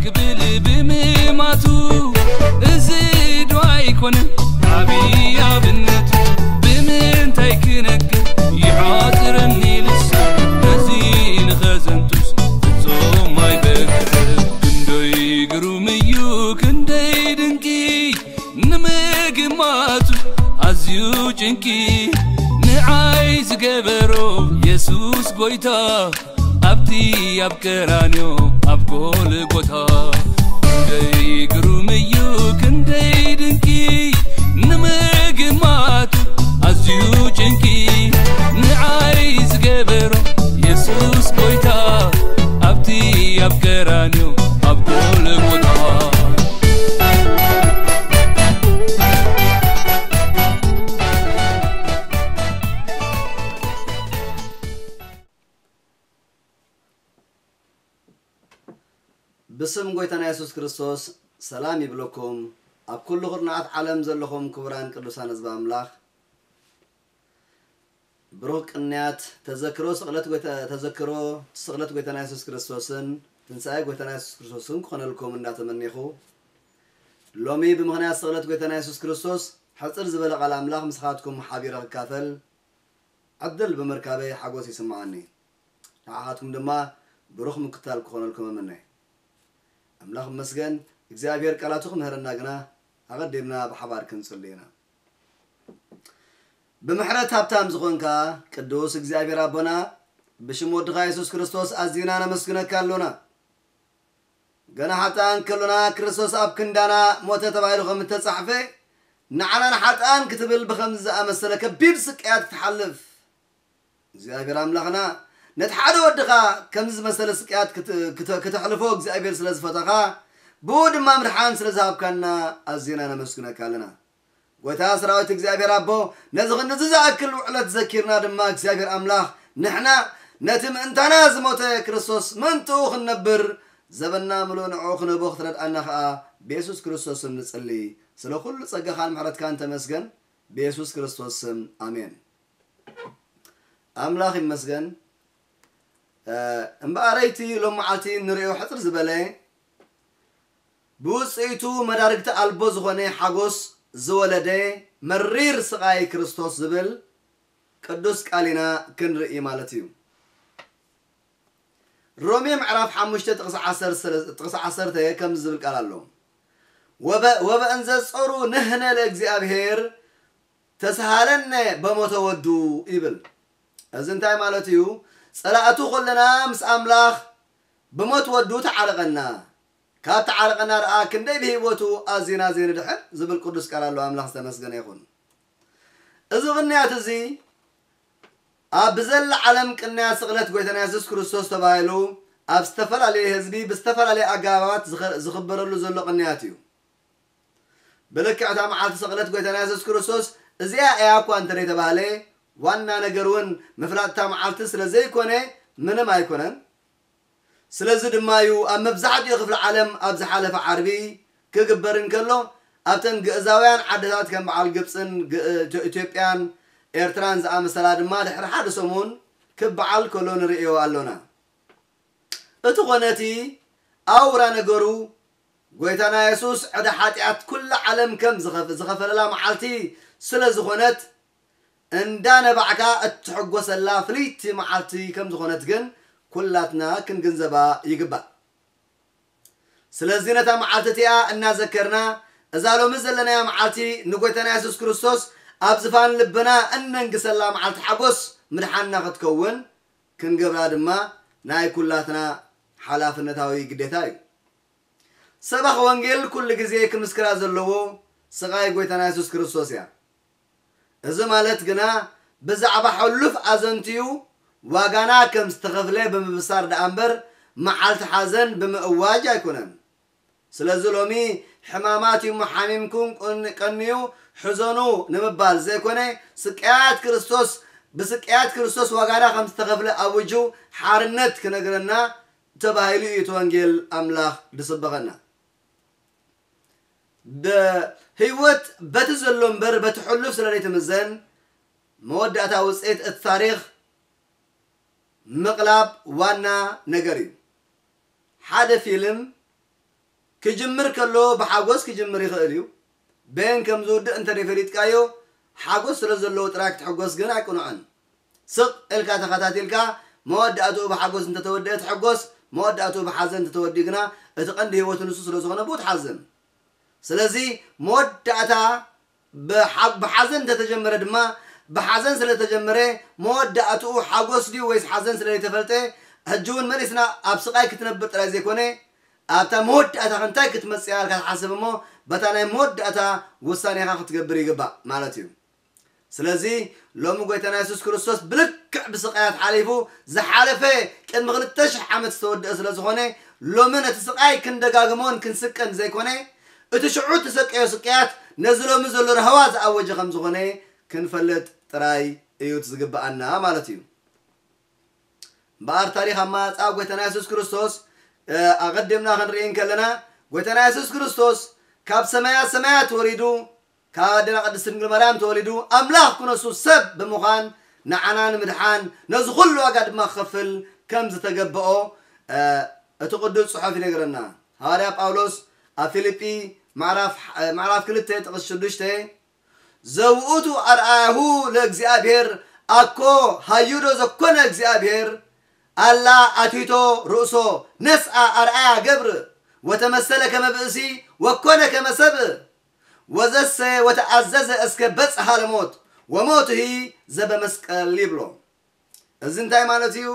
ክብል ብምማቱ፣ እዚ ዶ ኣይኮነን ዓብዪ ኣብነቱ? ብምንታይ ክነግር ይሓጽረኒ ልሳን፣ ነዚ ንኸዘንቱስ ፍጹም ኣይበቅዕን። ክንደይ ግሩም እዩ፣ ክንደይ ድንቂ ንምግማቱ ኣዝዩ ጭንቂ፣ ንዓይ ዝገበሮ የሱስ ጎይታ፣ ኣብቲ ኣብ ቀራንዮ ኣብ ጎልጎታ። ክንደይ ግሩም እዩ፣ ክንደይ ድንቂ ንምግማቱ ኣዝዩ ጭንቂ፣ ንዓይ ዝገበሮ የሱስ ጎይታ፣ ኣብቲ ኣብ ቀራንዮ ኣብ ጎልጎታ። ብስም ጎይታና የሱስ ክርስቶስ ሰላም ይብለኩም። ኣብ ኩሉ ኩርናዓት ዓለም ዘለኹም ክቡራን ቅዱሳን ህዝቢ ኣምላኽ፣ ብሩኽ ቅንያት ተዘክሮ ስቕለት ጎይታ-፣ ተዘክሮ ስቕለት ጎይታና የሱስ ክርስቶስን ትንሳኤ ጎይታና የሱስ ክርስቶስን ክኾነልኩም እንዳተመኔኹ፣ ሎሚ ብምኽንያት ስቕለት ጎይታና የሱስ ክርስቶስ ሕጽር ዝበለ ቃል ኣምላኽ ምስኻትኩም ሓቢረ ክካፈል ዕድል ብምርካበይ ሓጎስ ይስምዓኒ። ንዓኻትኩም ድማ ብሩኽ ምክታል ክኾነልኩም እምነ። ኣምላኽ ይመስገን፣ እግዚኣብሔር ቃላቱ ክምህረና ግና ኣቐዲምና ብሓባር ክንጽሊ ኢና። ብምሕረት ሃብታም ዝኾንካ ቅዱስ እግዚኣብሔር ኣቦና፣ ብሽም ወድኻ የሱስ ክርስቶስ ኣዚና ነመስግነካ ኣሎና። ገና ሓጥኣን ከሎና ክርስቶስ ኣብ ክንዳና ሞተ ተባሂሉ ከም እተጻሕፈ፣ ንዓና ንሓጥኣን ክትብል ብኸምዚ ዝኣመሰለ ከቢድ ስቅያት ክትሓልፍ፣ እግዚኣብሔር ኣምላኽና ነቲ ሓደ ወድኻ ከምዚ ዝመሰለ ስቅያት ክት-፣ ክተ-፣ ክተሕልፎ እግዚኣብሔር ስለ ዝፈተኻ፣ ብኡ ድማ ምድሓን ስለ ዝሃብካና ኣዚና ነመስግነካ ኣለና። ጎይታ ሰራዊት እግዚኣብሔር ኣቦ፣ ነዚ ክንድዚ ዝኣክል ውዕለት ዘኪርና ድማ እግዚኣብሔር ኣምላኽ፣ ንሕና ነቲ ምእንታና ዝሞተ ክርስቶስ ምእንትኡ ክንነብር፣ ዘበንና ምሉእ ንዕኡ ክነቦ ክትረድኣና ኸኣ ብየሱስ ክርስቶስ ስም ንጽሊ። ስለ ኩሉ ጸጋኻን ምሕረትካን ተመስገን፣ ብየሱስ ክርስቶስ ስም ኣሜን። ኣምላኽ ይመስገን። እ፣ እምበኣረይቲ ሎም መዓልቲ ንርእዮ ሕጽር ዝበለ፣ ብውጽኢቱ መዳርግቲ ኣልቦ ዝኾነ ሓጎስ ዝወለደ መሪር ስቓይ ክርስቶስ ዝብል ቅዱስ ቃል ኢና ክንርኢ ማለት እዩ። ሮሜ ምዕራፍ ሓሙሽተ ጥቕሲ ዓሰርተ፣ ጥቕሲ ዓሰርተ ከምዚ ዝብል ቃል ኣሎ። "ወበ-፣ ወበእንዘ ጾሩ ንሕነ ለእግዚኣብሔር ተስሃለነ በሞተ ወዱ" ይብል። እዚ እንታይ ማለት እዩ? ጸላእቱ ኮለና ምስ ኣምላኽ ብሞት ወዱ ተዓረቐና። ካብ ተዓረቐና ደኣ ክንደይ ብህይወቱ ኣዚና ዘይንድሕን ዝብል ቅዱስ ቃል ኣሎ። ኣምላኽ ዝተመስገነ ይኹን። እዚ ቅንያት እዚ ኣብ ብዘላ ዓለም ቅንያት ስቕለት ጎይታና የሱስ ክርስቶስ ተባሂሉ ኣብ ዝተፈላለየ ህዝቢ ብዝተፈላለየ ኣገባባት ዝኸ-፣ ዝኽበረሉ ዘሎ ቅንያት እዩ። ብልክዕ እታ መዓልቲ ስቕለት ጎይታና የሱስ ክርስቶስ እዚኣ እያ እኳ እንተ ደይተባህለ፣ ዋና ነገር እውን ምፍላጥ እታ መዓልቲ ስለ ዘይኮነ ምንም ኣይኮነን። ስለዚ ድማ እዩ ኣብ መብዛሕትኡ ክፍለ ዓለም ኣብ ዝሓለፈ ዓርቢ ክግበር እንከሎ፣ ኣብተን ግእዛውያን ዓድታት ከም በዓል ግብጽን ግ-፣ ኢትዮ-፣ ኢትዮጵያን ኤርትራን ዝኣመሰላ ድማ ድሕሪ ሓደ ሰሙን ክበዓል ከሎ ንርእዮ ኣሎና። እቲ ኾነ እቲ ኣውራ ነገሩ፣ ጎይታና የሱስ ዕዳ ሓጢኣት ኩላ ዓለም ከም ዝኸፍ-፣ ዝኸፈለላ መዓልቲ ስለ ዝኾነት፣ እንዳነባዕካ እትሕጎሰላ ፍልይቲ መዓልቲ ከም ዝኾነት ግን ኩላትና ክንግንዘባ ይግባእ። ስለዚ ነታ መዓልቲ እቲኣ እናዘከርና፣ እዛ ሎሚ ዘለናያ መዓልቲ ንጎይታና የሱስ ክርስቶስ ኣብ ዝፋን ልብና እነንግሰላ መዓልቲ ሓጎስ ምድሓንና ክትከውን ክንገብራ ድማ ናይ ኩላትና ሓላፍነታዊ ግዴታ እዩ። ሰባኺ ወንጌል ኩሉ ግዜ ክምስክራ ዘለዎ ስቓይ ጎይታና የሱስ ክርስቶስ እያ። እዚ ማለት ግና ብዛዕባ ሕሉፍ ኣዘንትዩ ዋጋና ከም ዝተኸፍለ ብምብሳር ደኣ እምበር፣ መዓልቲ ሓዘን ብምእዋጅ ኣይኮነን። ስለዚ ሎሚ ሕማማት እዩ ሓሚምኩም፣ ቅን-፣ ቀንዩ፣ ሕዘኑ ንምባል ዘይኮነ፣ ስቅያት ክርስቶስ፣ ብስቅያት ክርስቶስ ዋጋና ከም ዝተኸፍለ ኣውጁ ሓርነት ክነግረና ተባሂሉ እዩ እቲ ወንጌል ኣምላኽ ዝስበኸና። ብ-፣ ህይወት በቲ ዘሎ እምበር በቲ ሕሉፍ ስለ ዘይትምዘን፣ መወዳእታ ውፅኢት እቲ ታሪኽ ምቕላብ ዋና ነገር እዩ። ሓደ ፊልም ክጅምር ከሎ ብሓጎስ ክጅምር ይኽእል እዩ። በየን ከም ዝውድእ እንተ ፈሊጥካዮ፣ ሓጎስ ስለ ዘለዎ ጥራይ ክትሕጎስ ግን ኣይቅኑዕን። ስቕ ኢልካ ተኸታቲልካ፣ መወዳእትኡ ብሓጎስ እንተተወደአ ትሕጎስ፣ መወዳእትኡ ብሓዘን እንተተወዲኡ ግና፣ እቲ ቀንዲ ህይወቱ ንሱ ስለ ዝኾነ ብኡ ትሓዝን። ስለዚ መወዳእታ ብሓ-፣ ብሓዘን እንተተጀመረ ድማ፣ ብሓዘን ስለተጀመረ፣ መወዳእትኡ ሓጎስ ድዩ ወይስ ሓዘን ስለዘይተፈልጠ፣ ሕጂ እውን መሊስና ኣብ ስቓይ ክትነብር ጥራይ ዘይኮነ፣ ኣብታ መወዳእታ እንታይ ክትመጽእ እያ ኢልካ ትሓስብ እሞ፣ በታ ናይ መወዳእታ ውሳኔኻ ክትገብር ይግባእ ማለት እዩ። ስለዚ ሎሚ ጎይታና የሱስ ክርስቶስ ብልክዕ ብስቓያት ሓሊፉ፣ ዝሓለፈ ቅድሚ ክልተ ሽሕ ዓመት ዝተወደአ ስለ ዝኾነ፣ ሎሚ ነቲ ስቓይ ክንደጋግሞን ክንስቀን ዘይኮነ፣ እቲ ሽዑ እተሰቀዮ ስቅያት ነዚ ሎሚ ዘሎ ራህዋ ዝኣወጀ ከም ዝኾነ ክንፈልጥ ጥራይ እዩ እቲ ዝግብኣና ማለት እዩ። እምበኣር ታሪኽ ኣመጻጽኣ ጎይታና የሱስ ክርስቶስ፣ እ፣ ኣቐዲምና ክንርኢ እንከለና፣ ጎይታና የሱስ ክርስቶስ ካብ ሰማያት ሰማያት ወሪዱ፣ ካብ ኣዴና ቅድስት ድንግል ማርያም ተወሊዱ፣ ኣምላኽ ክነሱ ሰብ ብምዃን ንዓና ንምድሓን፣ ነዚ ኩሉ ዋጋ ድማ ክኸፍል ከም ዝተገበኦ፣ እ፣ እቲ ቅዱስ ጽሑፍ ይነግረና። ሃዋርያ ጳውሎስ ኣብ ፊልጲ ምዕራፍ፣ እ፣ ምዕራፍ ክልተ ጥቕስ ሽዱሽተ፣ "ዘውእቱ ኣርኣያሁ ለእግዚኣብሔር ኣኮ ሃዩዶ ዘኮነ እግዚኣብሔር ኣላ ኣቲቶ ርእሶ ነስኣ ኣርኣያ ገብር ወተመሰለ ከመ ብእሲ ወኮነ ከመ ሰብ ወዘሰ ወተኣዘዘ እስከ በጽሐ ለሞት ወሞትሂ ዘበመስቀል" ይብሎ። እዚ እንታይ ማለት እዩ?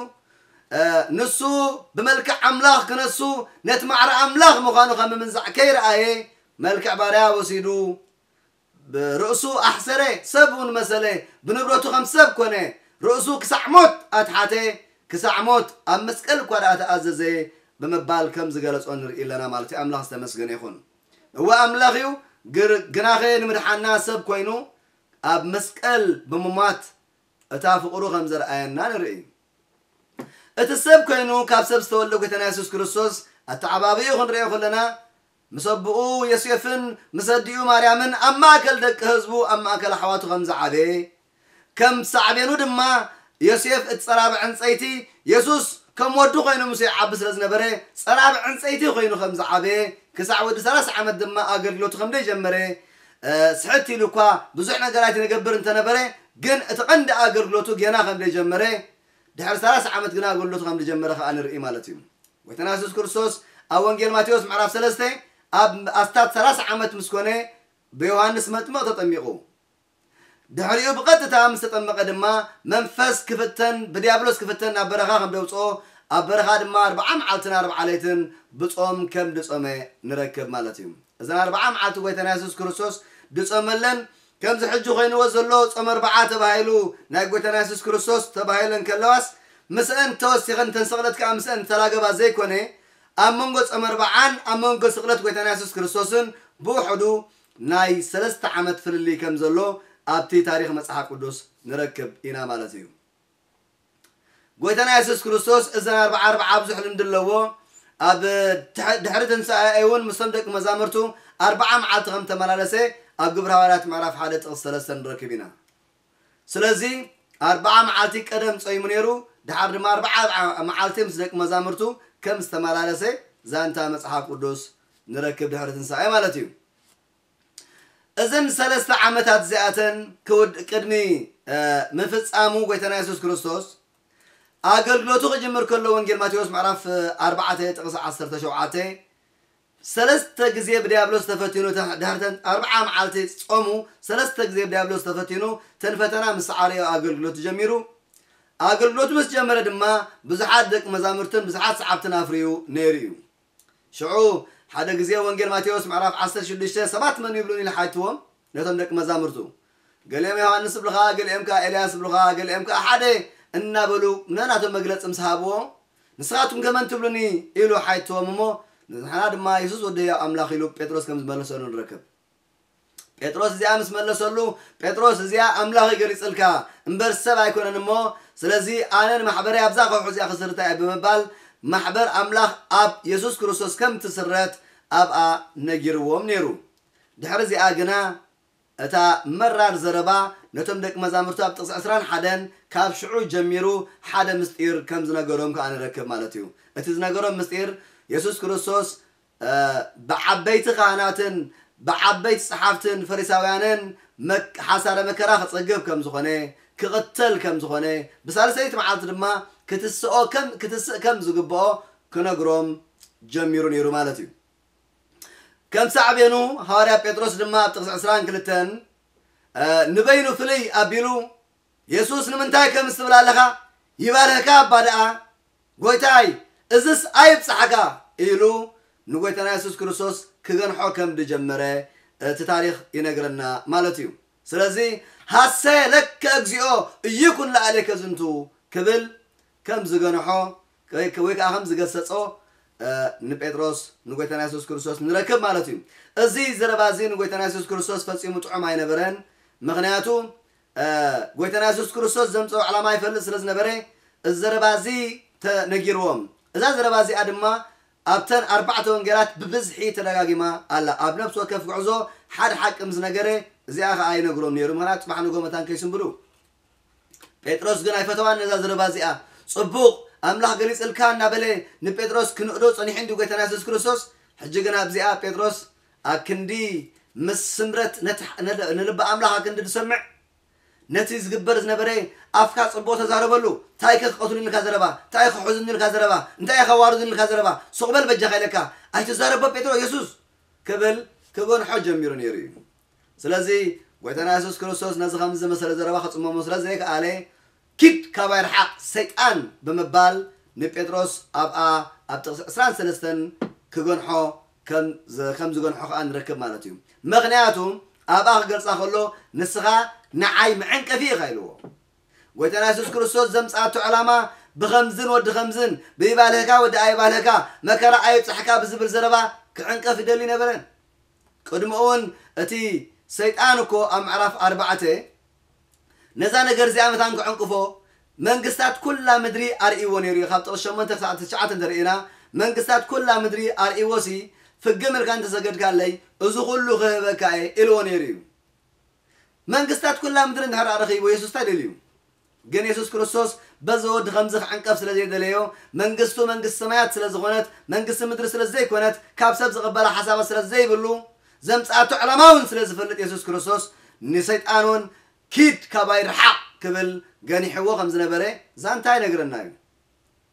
እ፣ ንሱ ብመልክዕ ኣምላኽ ክነሱ ነቲ ማዕረ ኣምላኽ ምዃኑ ከም ምምንዛዕ ከይረኣየ፣ መልክዕ ባርያ ወሲዱ፣ ብርእሱ ኣሕሰረ፣ ሰብ እውን መሰለ፣ ብንብረቱ ከም ሰብ ኮነ፣ ርእሱ ክሳዕ ሞት ኣትሓተ፣ ክሳዕ ሞት ኣብ መስቀል እኳ ደኣ ተኣዘዘ ብምባል ከም ዝገለጾ ንርኢ ኣለና ማለት እዩ። ኣምላኽ ዝተመስገነ ይኹን። እወ ኣምላኽ እዩ፣ ግር-፣ ግናኸ ንምድሓና ሰብ ኮይኑ ኣብ መስቀል ብምሟት እታ ፍቕሩ ከም ዘርኣየና ንርኢ። እቲ ሰብ ኮይኑ ካብ ሰብ ዝተወልደ ጎይታና የሱስ ክርስቶስ ኣተዓባብኡ ክንርእዮ ከለና፣ ምስ ኣቦኡ ዮሴፍን ምስ ኣዲኡ ማርያምን ኣብ ማእከል ደቂ ህዝቡ፣ ኣብ ማእከል ኣሕዋቱ ከም ዝዓበየ፣ ከም ሳዕቤኑ ድማ ዮሴፍ እቲ ጸራቢ ዕንጸይቲ፣ የሱስ ከም ወዱ ኮይኑ ምስ ይዓቢ ስለ ዝነበረ፣ ጸራቢ ዕንጸይቲ ኮይኑ ከም ዝዓበየ፣ ክሳዕ ወዲ ሰላሳ ዓመት ድማ ኣገልግሎቱ ከም ዘይጀመረ፣ እ፣ ስሕት ኢሉ እኳ ብዙሕ ነገራት ይነገብር እንተነበረ፣ ግን እቲ ቀንዲ ኣገልግሎቱ ጌና ከም ዘይጀመረ፣ ድሕሪ ሰላሳ ዓመት ግና ኣገልግሎቱ ከም ዝጀመረ ከኣ ንርኢ ማለት እዩ። ጎይታና የሱስ ክርስቶስ ኣብ ወንጌል ማቴዎስ ምዕራፍ ሰለስተ ኣብ ኣስታት ሰላሳ ዓመት ምስ ኮነ ብዮሃንስ መጥምቕ ተጠሚቑ። ድሕሪኡ ብቐጥታ ምስ ተጠመቐ ድማ መንፈስ ክፍተን፣ ብዲያብሎስ ክፍተን ናብ በረኻ ከም ደውፅኦ፣ ኣብ በረኻ ድማ ኣርብዓ መዓልትን ኣርብዓ ለይትን ብጾም ከም ድጾመ ንረክብ ማለት እዩ። እዘን ኣርብዓ መዓልቲ ጎይታና የሱስ ክርስቶስ ድጾመለን፣ ከምዚ ሕጂ ኮይንዎ ዘሎ ጾም ኣርብዓ ተባሂሉ ናይ ጎይታና የሱስ ክርስቶስ ተባሂለን ከለዋስ፣ ምስአን ተወሲኸን፣ እተን ስቕለት ከኣ ምስአን ተላገባ ዘይኮነ፣ ኣብ መንጎ ጾም ኣርብዓን ኣብ መንጎ ስቕለት ጎይታና የሱስ ክርስቶስን ብውሕዱ ናይ ሰለስተ ዓመት ፍልልይ ከም ዘሎ ኣብቲ ታሪኽ መጽሓፍ ቅዱስ ንረክብ ኢና ማለት እዩ። ጎይታና የሱስ ክርስቶስ እዘን ኣርብዓ ኣርብዓ ብዙሕ ልምዲ ኣለዎ። ኣብ ትሕ-፣ ድሕሪ ትንሳኤ እውን ምስቶም ደቂ መዛሙርቱ ኣርብዓ መዓልቲ ከም ተመላለሰ ኣብ ግብረ ሃዋርያት ምዕራፍ ሓደ ጥቕሲ ሰለስተ ንረክብ ኢና። ስለዚ ኣርብዓ መዓልቲ ቀደም ጾይሙ ነይሩ፣ ድሓር ድማ ኣርብዓ መዓልቲ ምስ ደቂ መዛሙርቱ ከም ዝተመላለሰ ዛንታ መጽሓፍ ቅዱስ ንረክብ ድሕሪ ትንሳኤ ማለት እዩ። እዘን ሰለስተ ዓመታት እዚኣተን ክውድ-፣ ቅድሚ፣ እ፣ ምፍጻሙ ጎይታና የሱስ ክርስቶስ ኣገልግሎቱ ክጅምር ከሎ ወንጌል ማቴዎስ ምዕራፍ ኣርባዕተ ጥቕሲ ዓሰርተ ሸውዓተ፣ ሰለስተ ግዜ ብዲያብሎስ ተፈቲኑ፣ ተ-፣ ድሕሪ ተን ኣርብዓ መዓልቲ ጾሙ፣ ሰለስተ ግዜ ብዲያብሎስ ተፈቲኑ፣ ተን ፈተና ምስ ሰዓረዮ ኣገልግሎቱ ጀሚሩ። ኣገልግሎቱ ምስ ጀመረ ድማ ብዙሓት ደቂ መዛሙርትን ብዙሓት ሰዓብትን ኣፍርዩ ነይሩ እዩ። ሽዑ ሓደ ግዜ ወንጌል ማቴዎስ ምዕራፍ ዓሰርተ ሽዱሽተ ሰባት መን ይብሉኒ ኢሉ ሓትዎም ነቶም ደቂ መዛሙርቱ። ገሊኦም ዮሃንስ ይብሉኻ፣ ገሊኦም ከኣ ኤልያስ ይብሉኻ፣ ገሊኦም ከኣ ሓደ እናበሉ ነናቶም መግለጺ ምስ ሃብዎ፣ "ንስኻትኩም ከ መን ትብሉኒ?" ኢሉ ሓትዎም እሞ፣ "ንሕና ድማ የሱስ ወዲ ህያው ኣምላኽ" ኢሉ ጴጥሮስ ከም ዝመለሰሉ ንረክብ። ጴጥሮስ እዚኣ ምስ መለሰሉ፣ "ጴጥሮስ፣ እዚኣ ኣምላኽ እዩ ገሊጽልካ እምበር ሰብ ኣይኮነን እሞ፣ ስለዚ ኣነ ንማሕበረይ ኣብዛ ከውሒ እዚኣ ክስርታ እየ" ብምባል፣ ማሕበር ኣምላኽ ኣብ የሱስ ክርስቶስ ከም ትስረት ኣብኣ ነጊርዎም ነይሩ። ድሕሪ እዚኣ ግና፣ እታ መራር ዘረባ ነቶም ደቂ መዛሙርቱ ኣብ ጥቕሲ ዕስራን ሓደን ካብ ሽዑ ጀሚሩ ሓደ ምስጢር ከም ዝነገሮም ከኣ ንረክብ ማለት እዩ። እቲ ዝነገሮም ምስጢር፣ የሱስ ክርስቶስ ብዓበይቲ ካህናትን ብዓበይቲ ጸሓፍትን ፈሪሳውያንን መክ-፣ ሓሳረ መከራ ክጸግብ ከም ዝኾነ፣ ክቕተል ከም ዝኾነ፣ ብሳልሰይቲ መዓልቲ ድማ ክትስኦ ከም፣ ክትስእ ከም ዝግብኦ ክነግሮም ጀሚሩ ነይሩ ማለት እዩ። ከም ሳዕቤኑ፣ ሃዋርያ ጴጥሮስ ድማ ኣብ ጥቕሲ ዕስራን ክልተን፣ እ፣ ንበይኑ ፍልይ ኣቢሉ፣ "የሱስ ንምንታይ ከምዚ ትብል ኣለኻ? ይባርህካ እባ ደኣ፣ ጎይታይ፣ እዝስ ኣይብጻሕካ" ኢሉ ንጎይታና የሱስ ክርስቶስ ክገንሖ ከም ዝጀመረ እቲ ታሪኽ ይነግረና ማለት እዩ። ስለዚ፣ "ሐሰ ለከ እግዚኦ፣ ኢይኩን ለዓሌከ ዝንቱ" ክብል ከም ዝገንሖ ወይ፣ ወይ ከዓ ከም ዝገሰጾ፣ እ፣ ንጴጥሮስ ንጎይታና የሱስ ክርስቶስ ንረክብ ማለት እዩ። እዚ ዘረባ እዚ ንጎይታና የሱስ ክርስቶስ ፈጺሙ ጥዑም ኣይነበረን። ምኽንያቱ፣ እ፣ ጎይታና የሱስ ክርስቶስ ዘምጽኦ ዕላማ ይፈልጥ ስለ ዝነበረ፣ እዚ ዘረባ እዚ ተነጊርዎም። እዛ ዘረባ እዚኣ ድማ ኣብተን ኣርባዕተ ወንጌላት ብብዝሒ ተደጋጊማ ኣላ። ኣብ ነፍሲ ወከፍ ጉዕዞ ሓደ ሓቂ ምስ ነገረ፣ እዚኣ ኸኣ ይነግሮም ነይሩ። ምኽንያቱ ጽባሕ ንግሆ መታን ከይስንብዱ። ጴጥሮስ ግን ኣይፈተዋን ነዛ ዘረባ እዚኣ። "ጽቡቕ፣ ኣምላኽ ገሊጽልካ" እናበለ ንጴጥሮስ ክንእዶ ጸኒሑ እንዲ ጎይታና የሱስ ክርስቶስ። ሕጂ ግን ኣብዚኣ ጴጥሮስ ኣብ ክንዲ ምስ ስምረት ነቲ፣ ን-፣ ንልቢ ኣምላኽ ኣብ ክንዲ ዝሰምዕ፣ ነቲ ዝግበር ዝነበረ ኣፍካ ጽቡቕ ተዛረበሉ። እንታይ ከ ክቐትሉኒ ኢልካ ዘረባ? እንታይ ከሕዙኒ ኢልካ ዘረባ? እንታይ ከዋርዱኒ ኢልካ ዘረባ? ሱቕ በል በጃኻ ኢለካ። ኣይትዛረቦ ጴጥሮስ የሱስ ክብል ክገንሖ ጀሚሩ ነይሩ እዩ። ስለዚ ጎይታና የሱስ ክርስቶስ ነዚ ከምዚ ዝመሰለ ዘረባ ክጽመሞ ስለ ዘይከኣለ፣ "ኪድ ካባይ ርሓቕ ሰይጣን" ብምባል ንጴጥሮስ ኣብኣ ኣብ ጥቕሲ ዕስራን ሰለስተን ክገንሖ ከም ዝ-፣ ከም ዝገንሖ ከኣ ንረክብ ማለት እዩ። ምኽንያቱ ኣብኣ ክገልጻ ከሎ፣ "ንስኻ ንዓይ መዐንቀፊ ኢኻ" ኢልዎ። ጎይታና የሱስ ክርስቶስ ዘምጽኣቶ ዕላማ ብኸምዝን ወዲ ኸምዝን፣ "ብይባልህካ ወዲ ኣይባልህካ፣ መከራ ኣይብጽሕካ" ብዝብል ዘረባ ክዕንቀፍ ይደሊ ነበረን። ቅድሚ እውን እቲ ሰይጣን እኮ ኣብ ምዕራፍ ኣርባዕተ ነዛ ነገር እዚኣ መታን ክዕንቅፎ መንግስታት ኩላ ምድሪ ኣርእይዎ ነይሩ እዩ። ካብ ጥቕሲ ሸሞንተ ክሳዕ ትሽዓተ እንተርኢና፣ መንግስታት ኩላ ምድሪ ኣርእይዎ ሲ፣ "ፍግም ኢልካ እንተሰገድካለይ፣ እዚ ኩሉ ክህበካ እየ" ኢልዎ ነይሩ እዩ። መንግስታት ኩላ ምድሪ እንድሕር ኣረኺቡ፣ የሱስ እንታይ ደልዩ? ግን የሱስ ክርስቶስ በዚ ወዲ ከምዚ ክዕንቀፍ ስለ ዘይደለዮ፣ መንግስቱ መንግስቲ ሰማያት ስለ ዝኾነት፣ መንግስቲ ምድሪ ስለ ዘይኮነት፣ ካብ ሰብ ዝቕበላ ሓሳባት ስለ ዘይብሉ፣ ዘምጽኣቶ ዕላማ እውን ስለ ዝፈልጥ፣ የሱስ ክርስቶስ ንሰይጣን እውን "ኪድ ካባይ ርሓቕ" ክብል ገኒሕዎ ከም ዝነበረ ዛንታ ይነግረና እዩ።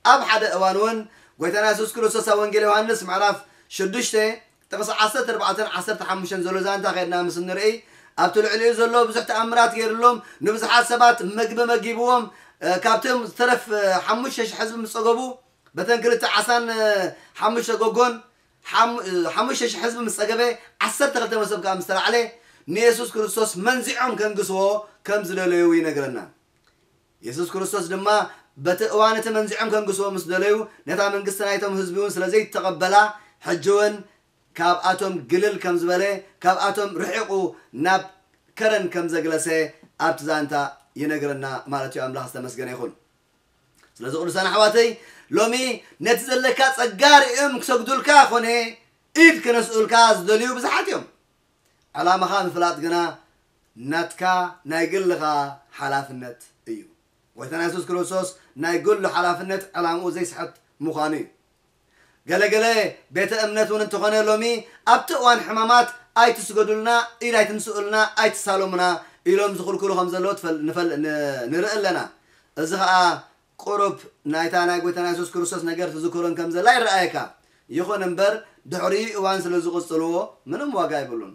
ኣብ ሓደ እዋን እውን ጎይታና የሱስ ክርስቶስ ኣብ ወንጌል ዮሃንስ ምዕራፍ ሽዱሽተ ጥቕሲ ዓሰርተ ኣርባዕተን ዓሰርተ ሓሙሽተን ዘሎ ዛንታ ከድና ምስ እንርኢ፣ ኣብቲ ልዕሊኡ ዘሎ ብዙሕ ተኣምራት ገይሩሎም፣ ንብዙሓት ሰባት ምግቢ መጊብዎም፣ እ፣ ካብቶም ዝተረፍ፣ እ፣ ሓሙሽተ ሽሕ ህዝቢ ምስ ጸገቡ፣ በተን ክልተ ዓሳን፣ እ፣ ሓሙሽተ ጎጎን፣ ሓሙ-፣ እ፣ ሓሙሽተ ሽሕ ህዝቢ ምስ ጸገበ፣ ዓሰርተ ክልተ መሶብ ከኣ ምስ ተላዕለ፣ ንየሱስ ክርስቶስ መንዚዖም ከንግስዎ ከም ዝደለዩ ይነግረና። የሱስ ክርስቶስ ድማ በቲ እዋን እቲ መንዚዖም ከንግስዎ ምስ ደለዩ፣ ነታ መንግስቲ ናይቶም ህዝቢ እውን ስለ ዘይተቐበላ፣ ሕጂ እውን ካብኣቶም ግልል ከም ዝበለ፣ ካብኣቶም ርሒቑ ናብ ከረን ከም ዘግለሰ ኣብቲ ዛንታ ይነግረና ማለት እዩ። ኣምላኽ ዝተመስገነ ይኹን። ስለዚ ቅዱሳን ኣሕዋተይ፣ ሎሚ ነቲ ዘለካ ጸጋ ርእዮም ክሰግዱልካ ኮነ ኢድ ክነስኡልካ ዝደልዩ ብዙሓት እዮም። ዕላማኻ ምፍላጥ ግና ናትካ ናይ ግልኻ ሓላፍነት እዩ። ጎይታና የሱስ ክርስቶስ ናይ ግሉ ሓላፍነት ዕላምኡ ዘይስሕት ምዃኑ እዩ። ገለገለ ቤተ እምነት እውን እንተኾነ ሎሚ ኣብቲ እዋን ሕማማት "ኣይትስገዱልና፣ ኢድ ኣይትንስኡልና፣ ኣይትሳለሙና" ኢሎም ዝኽልክሉ ከም ዘለዉ ትፈል-፣ ንፈል-፣ ን-፣ ንርኢ ኣለና። እዚ ኸኣ ቁሩብ ናይታ ናይ ጎይታና የሱስ ክርስቶስ ነገር ትዝክሮን ከም ዘላ ይረኣየካ። ይኹን እምበር ድሕሪኡ እዋን ስለ ዝቕጽልዎ ምንም ዋጋ የብሉን።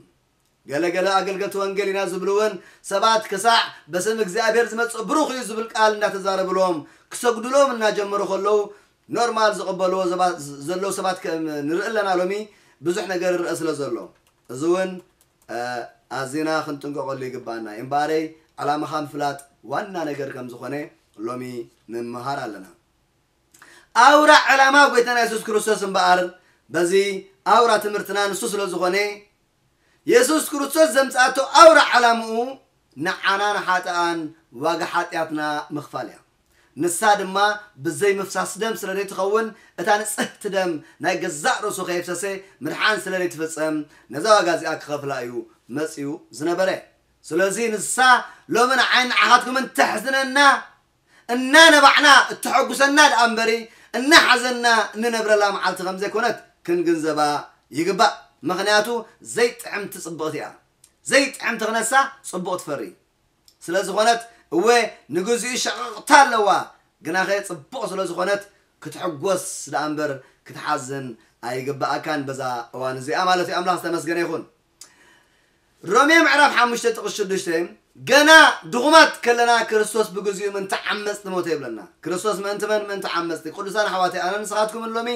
ገለ ገለ ኣገልገልቲ ወንጌል ኢና ዝብሉ እውን ሰባት ክሳዕ "በስም እግዚኣብሔር ዝመጽእ ብሩኽ እዩ" ዝብል ቃል እንዳተዛረብሎም ክሰግዱሎም እናጀመሩ ከለዉ ኖርማል ዝቕበልዎ ዘባ-፣ ዘለዉ ሰባት ከም ንርኢ ኣለና። ሎሚ ብዙሕ ነገር ይረአ ስለ ዘሎ እዚ እውን፣ እ፣ ኣዚና ክንጥንቀቐሉ ይግባኣና። እምበኣረይ ዕላማኻ ምፍላጥ ዋና ነገር ከም ዝኾነ ሎሚ ንምሃር ኣለና። ኣውራ ዕላማ ጎይታና የሱስ ክርስቶስ እምበኣር በዚ ኣውራ ትምህርትና ንሱ ስለ ዝኾነ የሱስ ክርስቶስ ዘምጽኣቶ ኣውራ ዕላምኡ ንዓና ንሓጥኣን ዋጋ ሓጢኣትና ምኽፋል እያ። ንሳ ድማ ብዘይ ምፍሳስ ደም ስለ ዘይትኸውን፣ እታ ንጽህቲ ደም ናይ ገዛእ ርእሱ ከየፍሰሰ ምድሓን ስለ ዘይትፍጸም፣ ነዛ ዋጋ እዚኣ ክኸፍላ እዩ መጺኡ ዝነበረ። ስለዚ ንሳ ሎሚ ንዓይን ንዓኻትኩምን ተሕዝነና፣ እናነባዕና እተሐጉሰና ደኣ እምበሪ፣ እናሓዘንና እንነብረላ መዓልቲ ከም ዘይኮነት ክንግንዘባ ይግባእ። ምኽንያቱ ዘይጥዕምቲ ጽብቕቲ እያ። ዘይጥዕምቲ ክነሳ ጽቡቕ ትፈሪ። ስለ ዝኾነት እወ ንግዚኡ ሸቕቕታ ኣለዋ፣ ግናኸ ጽቡቕ ስለ ዝኾነት ክትሕጎስ ደኣ እምበር ክትሓዝን ኣይግብኣካን በዛ እዋን እዚኣ ማለት እዩ። ኣምላኽ ዝተመስገነ ይኹን። ሮሜ ምዕራፍ ሓሙሽተ ጥቕስ ሽዱሽተ፣ ገና ድኹማት ከለና ክርስቶስ ብግዚኡ ምእንቲ ዓመፅቲ ሞተ ይብለና። ክርስቶስ ምእንቲ መን? ምእንቲ ዓመፅቲ። ቅዱሳን ኣሕዋተይ፣ ኣነ ንስኻትኩምን ሎሚ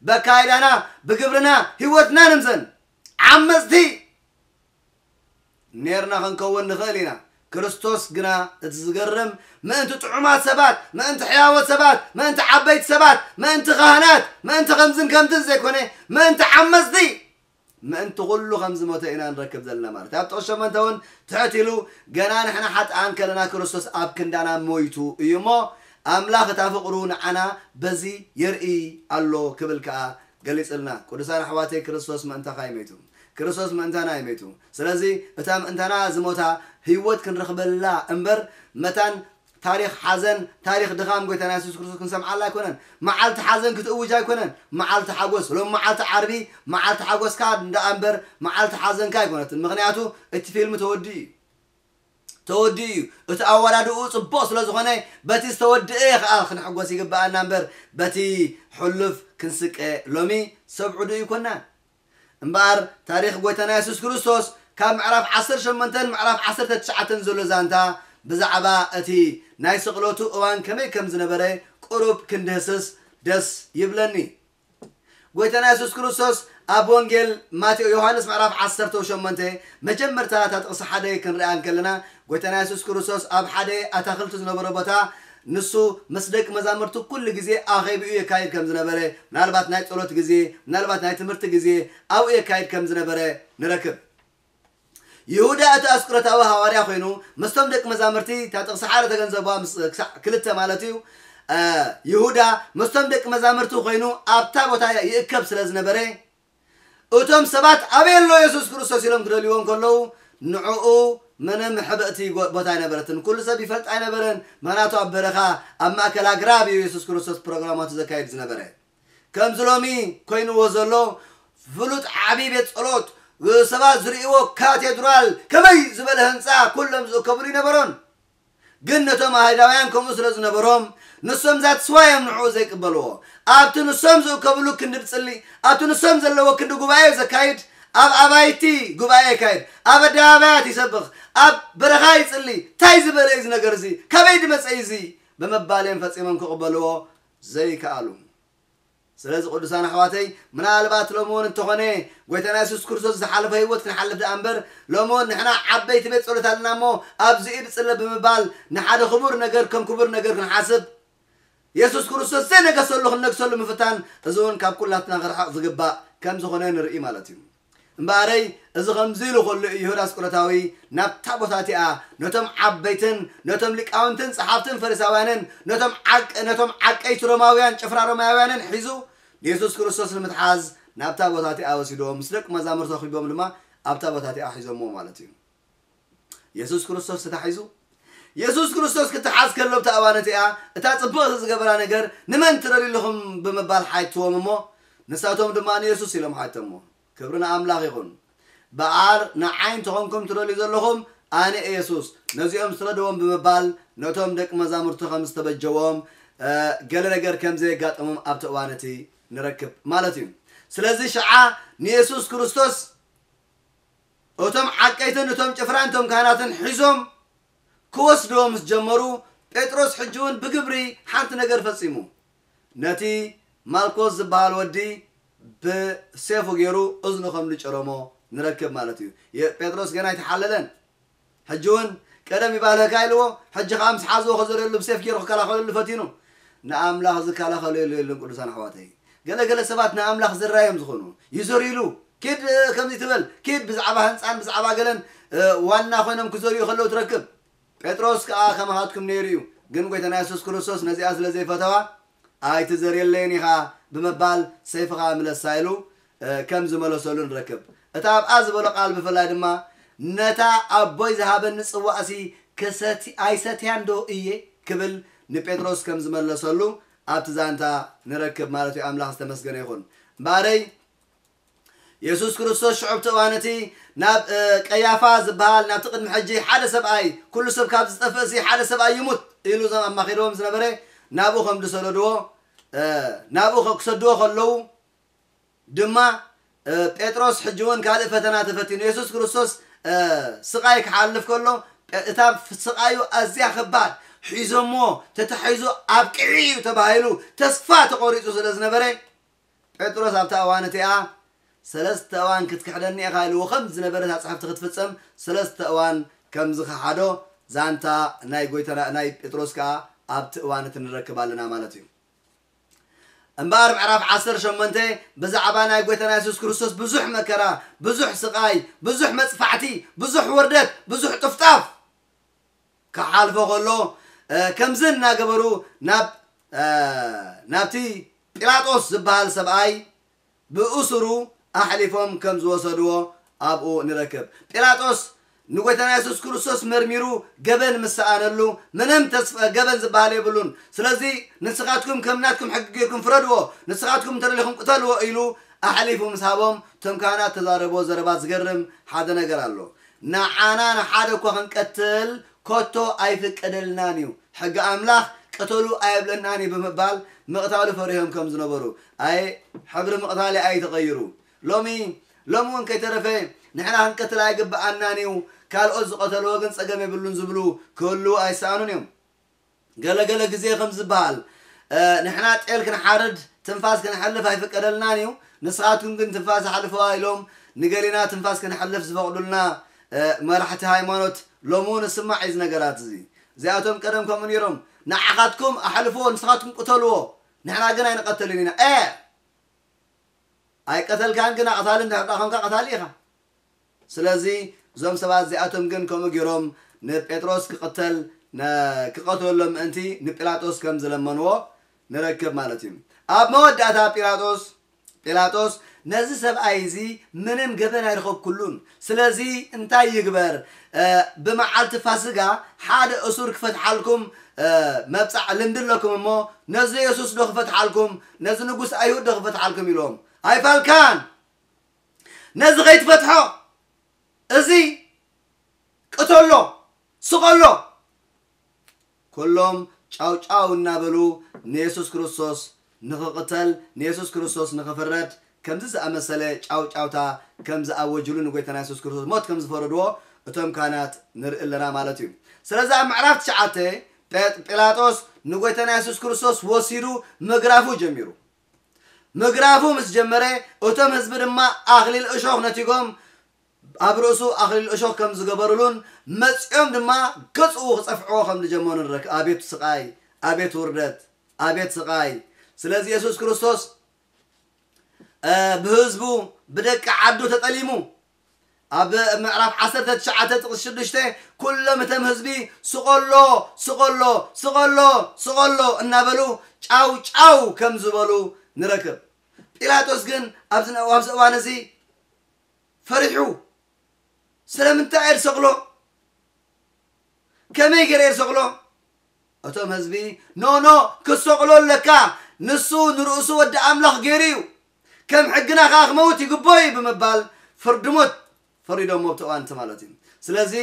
በካይዳና፣ ብግብርና፣ ህይወትና ንምዘን ዓመፅቲ ኔርና ክንከውን ንኽእል ኢና። ክርስቶስ ግና እቲ ዝገርም ምእንቲ ጥዑማት ሰባት፣ ምእንቲ ሕያዎት ሰባት፣ ምእንቲ ዓበይቲ ሰባት፣ ምእንቲ ካህናት፣ ምእንቲ ከምዝን ከምትን ዘይኮነ፣ ምእንቲ ዓመፅቲ ምእንቲ ኩሉ ከም ዝሞተ ኢና ንረክብ ዘለና ማለት እዩ። ኣብ ጥቕስ ሸሞንተ እውን ትሕት ኢሉ፣ ገና ንሕና ሓጥኣን ከለና ክርስቶስ ኣብ ክንዳና ሞይቱ እዩ እሞ፣ ኣምላኽ እታ ፍቕሩ ንዓና በዚ የርኢ ኣሎ ክብል ከኣ ገሊጽልና። ቅዱሳን ኣሕዋተይ፣ ክርስቶስ ምእንታኻ እዩ ሞይቱ። ክርስቶስ ምእንታና እዩ ሞይቱ። ስለዚ እታ ምእንታና ዝሞታ ህይወት ክንረኽበላ እምበር መታን ታሪኽ ሓዘን፣ ታሪኽ ድኻም ጎይታና የሱስ ክርስቶስ ክንሰምዓላ ኣይኮነን። መዓልቲ ሓዘን ክትእውጅ ኣይኮነን። መዓልቲ ሓጎስ፣ ሎም መዓልቲ ዓርቢ መዓልቲ ሓጎስካ እንዳ እምበር መዓልቲ ሓዘንካ ኣይኮነትን። ምኽንያቱ እቲ ፊልም ተወዲኡ እዩ። ተወዲኡ እዩ። እቲ ኣወዳድኡ ጽቡቕ ስለ ዝኾነ በቲ ዝተወድአ ኸኣ ክንሕጎስ ይግብኣና እምበር በቲ ሕሉፍ ክንስቀ ሎሚ ሰብ ዕዱ ይኮናን። እምበኣር ታሪኽ ጎይታና የሱስ ክርስቶስ ካብ ምዕራፍ ዓሰርተ ሸሞንተን ምዕራፍ ዓሰርተ ትሽዓተን ዘሎ ዛንታ ብዛዕባ እቲ ናይ ስቕለቱ እዋን ከመይ ከም ዝነበረ ቁሩብ ክንድህስስ ደስ ይብለኒ። ጎይታና የሱስ ክርስቶስ ኣብ ወንጌል ማቴዎ ዮሃንስ ምዕራፍ ዓሰርተ ሸሞንተ መጀመርታ እታ ጥቕሲ ሓደ ክንሪኣ እንከለና ጎይታና የሱስ ክርስቶስ ኣብ ሓደ ኣታኽልቲ ዝነበረ ቦታ ንሱ ምስ ደቂ መዛሙርቱ ኩሉ ግዜ ኣኼብኡ የካይድ ከም ዝነበረ፣ ምናልባት ናይ ጸሎት ግዜ፣ ምናልባት ናይ ትምህርቲ ግዜ ኣብኡ የካይድ ከም ዝነበረ ንረክብ። ይሁዳ እቲ ኣስቆሮታዊ ሃዋርያ ኮይኑ ምስቶም ደቂ መዛሙርቲ፣ እታ ጥቕሲ ሓደ ተገንዘቧ፣ ምስ ክሳዕ ክልተ ማለት እዩ። ይሁዳ ምስቶም ደቂ መዛሙርቲ ኮይኑ ኣብታ ቦታ ይእከብ ስለ ዝነበረ እቶም ሰባት ኣበይ ኣሎ የሱስ ክርስቶስ ኢሎም ክደልይዎ እንከለዉ ንዕኡ ምንም ሕብእቲ ቦታ ኣይነበረትን። ኩሉ ሰብ ይፈልጥ ኣይነበረን። ምኽንያቱ ኣብ በረኻ ኣብ ማእከል ኣግራብ እዩ የሱስ ክርስቶስ ፕሮግራማቱ ዘካይድ ዝነበረ። ከምዚ ሎሚ ኮይንዎ ዘሎ ፍሉጥ ዓብዪ ቤት ጸሎት፣ ሰባት ዝርእይዎ ካቴድራል፣ ከመይ ዝበለ ህንጻ ኩሎም ዝእከብሉ ይነበሮን። ግን ነቶም ኣይሁዳውያን ከምኡ ስለ ዝነበሮም ንሶም ዛትስዋ እዮም ንዕኡ ዘይቅበልዎ። ኣብቲ ንሶም ዝእከብሉ ክንዲ ብጽሊ ኣብቲ ንሶም ዘለዎ ክንዲ ጉባኤ ዘካይድ ኣብ ኣባይቲ ጉባኤ የካይድ ኣብ ኣደባባያት ይሰብኽ ኣብ በረኻ ይጽሊ እንታይ ዝበለ እዩ እዚ ነገር እዚ ካበይ ድመጸ እዩ እዚ ብምባል እዮም ፈጺሞም ክቕበልዎ ዘይከኣሉ። ስለዚ ቅዱሳን ኣሕዋተይ ምናልባት ሎሚ እውን እንተኾነ ጎይታና የሱስ ክርስቶስ ዝሓለፈ ህይወት ክንሓልፍ ደኣ እምበር ሎሚ እውን ንሕና ዓበይቲ ቤት ጸሎት ኣለና እሞ ኣብዚ ኢድ ጽለ ብምባል ንሓደ ክቡር ነገር ከም ክቡር ነገር ክንሓስብ የሱስ ክርስቶስ ዘይነገሰሉ ክንነግሰሉ ምፍታን እዚ እውን ካብ ኩላትና ክርሕቕ ዝግባእ ከም ዝኾነ ንርኢ ማለት እዩ። እምበኣረይ እዚ ከምዚ ኢሉ ከሎ እዩ ይሁዳ ኣስቆሮታዊ ናብታ ቦታ እቲኣ ነቶም ዓበይትን ነቶም ሊቃውንትን ጸሓፍትን ፈሪሳውያንን ነቶም ዓቀ ነቶም ዓቀይቲ ሮማውያን ጭፍራ ሮማውያንን ሒዙ ንየሱስ ክርስቶስ ንምትሓዝ ናብታ ቦታ እቲኣ ወሲድዎም ምስ ደቂ መዛሙርቱ ኣኺቦም ድማ ኣብታ ቦታ እቲኣ ሒዞምዎ ማለት እዩ። የሱስ ክርስቶስ ተታሒዙ የሱስ ክርስቶስ ክትሓዝ ከሎ ኣብታ እዋን እቲኣ እታ ጽብቕቲ ዝገበራ ነገር ንመን ትደልዩ ኣለኹም ብምባል ሓትዎም እሞ ንሳቶም ድማ ንየሱስ ኢሎም ሓተሞ። ክብሪ ንኣምላኽ ይኹን። በኣር ንዓይ እንተኾንኩም ትደልዩ ዘለኹም ኣነ እየ የሱስ ነዚኦም ስረድዎም ብምባል ነቶም ደቂ መዛሙርቱ ከም ዝተበጀዎም ገለ ነገር ከም ዘየጋጠሞም ኣብቲ እዋን እቲ ንረክብ ማለት እዩ። ስለዚ ሽዓ ንየሱስ ክርስቶስ እቶም ዓቀይትን እቶም ጭፍራን እቶም ካህናትን ሒዞም ክወስድዎ ምስ ጀመሩ ጴጥሮስ ሕጂ እውን ብግብሪ ሓንቲ ነገር ፈጺሙ። ነቲ ማልኮስ ዝበሃል ወዲ ብሴፉ ገይሩ እዝኑ ከም ዝጨረሞ ንረክብ ማለት እዩ። የ- ጴጥሮስ ገና ኣይተሓለለን። ሕጂ እውን ቀደም ይባልህካ ኢልዎ፣ ሕጂ ከዓ ምስ ሓዝዎ ከዘርየሉ ብሴፍ ገይሩ ክከላኸለሉ ፈቲኑ። ንኣምላኽ ዝከላኸለሉ የለን ቅዱሳን ኣሕዋተይ። ገለገለ ሰባት ንኣምላኽ ዝራዮም ዝኾኑ ይዘርይሉ። ኪድ ከምዚ ትበል፣ ኪድ ብዛዕባ ህንፃን ብዛዕባ ገለን ዋና ኮይኖም ክዘርዩ ከለዉ ትረክብ። ጴጥሮስ ከዓ ከማኻትኩም ነይሩ እዩ። ግን ጎይታና የሱስ ክርስቶስ ነዚኣ ስለ ዘይፈተዋ ኣይትዘርየለይን ኢኻ ብምባል ሰይፍኻ ምለሳ ኢሉ ከም ዝመለሰሉ ንረክብ። እቲ ኣብኣ ዝበሎ ቃል ብፍላይ ድማ ነታ ኣቦይ ዝሃበኒ ጽዋእሲ ክሰቲ ኣይሰትያን ዶ እየ ክብል ንጴጥሮስ ከም ዝመለሰሉ ኣብቲ ዛንታ ንረክብ ማለት እዩ። ኣምላኽ ዝተመስገነ ይኹን። እምበኣረይ የሱስ ክርስቶስ ሽዑ ኣብቲ እዋን እቲ ናብ ቀያፋ ዝበሃል ናብቲ ቅድሚ ሕጂ ሓደ ሰብኣይ፣ ኩሉ ሰብ ካብ ዝጠፍእሲ ሓደ ሰብኣይ ይሙት ኢሉ እዞም ኣማኺርዎም ዝነበረ ናብኡ ከም ዝሰደድዎ ናብኡ ክሰድዎ ከለዉ ድማ ጴጥሮስ ሕጂ እውን ካልእ ፈተና ተፈቲኑ። የሱስ ክርስቶስ ስቓይ ክሓልፍ ከሎ እታ ስቓዩ ኣዝያ ከባድ፣ ሒዞሞ ተታሒዙ ኣብቅዒ እዩ ተባሂሉ ተስፋ ተቖሪፁ ስለ ዝነበረ ጴጥሮስ ኣብታ እዋን እቲኣ ሰለስተ እዋን ክትክሕደኒ ኢኻ ኢልዎ ከም ዝነበረ እታ ጽሕፍቲ ክትፍጸም ሰለስተ እዋን ከም ዝኸሓዶ ዛንታ ናይ ጎይታና ናይ ጴጥሮስ ከኣ ኣብቲ እዋን እቲ ንረክብ ኣለና ማለት እዩ። እምበኣር ምዕራፍ ዓሰርተ ሸሞንተ ብዛዕባ ናይ ጎይታና የሱስ ክርስቶስ ብዙሕ መከራ፣ ብዙሕ ስቓይ፣ ብዙሕ መጽፋዕቲ፣ ብዙሕ ውርደት፣ ብዙሕ ጥፍጣፍ ክሓልፎ ከሎ ከምዚ እናገበሩ ናብ ናብቲ ጲላጦስ ዝበሃል ሰብኣይ ብእሱሩ ኣሕሊፎም ከም ዝወሰድዎ ኣብኡ ንረክብ። ጲላጦስ ንጎይታና የሱስ ክርስቶስ መርሚሩ ገበን ምስ ሰኣነሉ ምንም ተስፋ ገበን ዝበሃል የብሉን። ስለዚ ንስኻትኩም ከም ናትኩም ሕጊ ጌርኩም ፍረድዎ፣ ንስኻትኩም እንተደሊኹም ቅተልዎ ኢሉ ኣሕሊፉ ምስ ሃቦም እቶም ካህናት ተዛረብዎ ዘረባ ዝገርም ሓደ ነገር ኣሎ። ንዓና ንሓደ እኳ ክንቀትል ኮቶ ኣይፍቀደልናን እዩ። ሕጊ ኣምላኽ ቅተሉ ኣየብለናን እዩ ብምባል ምቕታሉ ፈሪሆም ከም ዝነበሩ ኣይ ሕብሪ ምቕታሊ ኣይተቐይሩ። ሎሚ ሎሚ እውን ከይተረፈ ንሕና ክንቀትል ኣይግብኣናን እዩ፣ ካልኦት ዝቐተልዎ ግን ጸገም የብሉን ዝብሉ ክህልዉ ኣይሰኣኑን እዮም። ገለገለ ግዜ ከም ዝበሃል ንሕና ጤል ክንሓርድ ትንፋስ ክንሕልፍ ኣይፍቀደልናን እዩ፣ ንስኻትኩም ግን ትንፋስ ኣሕልፈዋ ኢሎም ንገሊና ትንፋስ ክንሕልፍ ዝፈቕዱልና መራሕቲ ሃይማኖት ሎሚ እውን እስማዕ እዩ ነገራት እዚ። እዚኣቶም ቀደም ከምኡ ነይሮም፣ ንዓኻትኩም ኣሕልፍዎ ንስኻትኩም ቅተልዎ ንሕና ግን ኣይንቐተልን ኢና። ኤ ኣይቀተልካን ግን ኣቕታሊ እንድሕር ደኣ ኾንካ ቀታሊ ኢኻ። ስለዚ እዞም ሰባት እዚኣቶም ግን ከምኡ ገይሮም ንጴጥሮስ ክቕተል ክቐትለሎም ምእንቲ ንጲላጦስ ከም ዝለመንዎ ንረክብ ማለት እዩ። ኣብ መወዳእታ ጲላጦስ ጲላጦስ ነዚ ሰብኣይ እዚ ምንም ገበን ኣይረኸብኩሉን፣ ስለዚ እንታይ ይግበር? ብመዓልቲ ፋስጋ ሓደ እሱር ክፈትሓልኩም መብፃዕ ልምዲ ኣለኩም እሞ ነዚ የሱስ ዶ ክፈትሓልኩም? ነዚ ንጉስ ኣይሁድ ዶ ክፈትሓልኩም? ኢሎም ኣይፋልካን። ነዚ ከይትፈትሖ እዚ ቅተሎ፣ ስቐሎ። ኩሎም ጫው ጫው እናበሉ ንየሱስ ክርስቶስ ንኽቕተል፣ ንየሱስ ክርስቶስ ንኽፍረድ ከምዚ ዝኣመሰለ ጫው ጫውታ ከም ዝኣወጅሉ ንጎይታና የሱስ ክርስቶስ ሞት ከም ዝፈረድዎ እቶም ካህናት ንርኢ ኣለና ማለት እዩ። ስለዚ ኣብ ምዕራፍ ትሽዓተ ጴ- ጲላጦስ ንጎይታና የሱስ ክርስቶስ ወሲዱ ምግራፉ ጀሚሩ። ምግራፉ ምስ ጀመረ እቶም ህዝቢ ድማ ኣኽሊል እሾኽ ነቲጎም ኣብ ርእሱ ኣኽሊል እሾኽ ከም ዝገበሩሉን መጺኦም ድማ ገጽኡ ክጸፍዕዎ ከም ዝጀመሩ ንረክ ኣቤት ስቓይ፣ ኣቤት ውርደት፣ ኣቤት ስቓይ። ስለዚ የሱስ ክርስቶስ ብህዝቡ ብደቂ ዓዱ ተጠሊሙ ኣብ ምዕራፍ ዓሰርተ ትሽዓተ ጥቕሲ ሽዱሽተ ኩሎም እቶም ህዝቢ ስቐሎ ስቐሎ ስቐሎ ስቐሎ እናበሉ ጫው ጫው ከም ዝበሉ ንረክብ። ጲላጦስ ግን ኣብዚ ኣብዚ እዋን እዚ ፈሪሑ ስለምንታይ እየ ዝሰቕሎ? ከመይ ገይረ እየ ዝሰቕሎ? እቶም ህዝቢ ኖኖ ክሰቕሎ ኣለካ፣ ንሱ ንርእሱ ወዲ ኣምላኽ ገይሩ እዩ፣ ከም ሕግና ከኣ ክመውት ይግብኦ እዩ ብምባል ፍርዲ ሞት ፈሪዶሞ ኣብቲ እዋን እቲ ማለት እዩ። ስለዚ